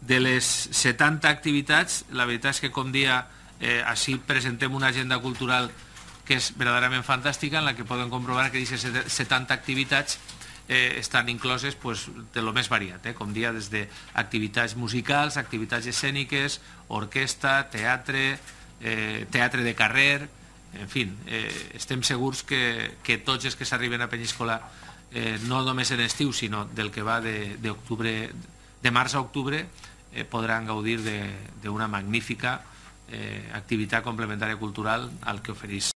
De les 70 activitats, la veritat és que, com dia, així presentem una agenda cultural que és verdaderament fantàstica, en la que podem comprovar que aquestes 70 activitats estan incloses de lo més variat, com dia, des d'activitats musicals, activitats escèniques, orquestra, teatre, teatre de carrer, en fi, estem segurs que tots els que s'arriben a Penyíscola, no només en estiu, sinó del que va de març a octubre, podran gaudir d'una magnífica activitat complementària cultural al que ofereix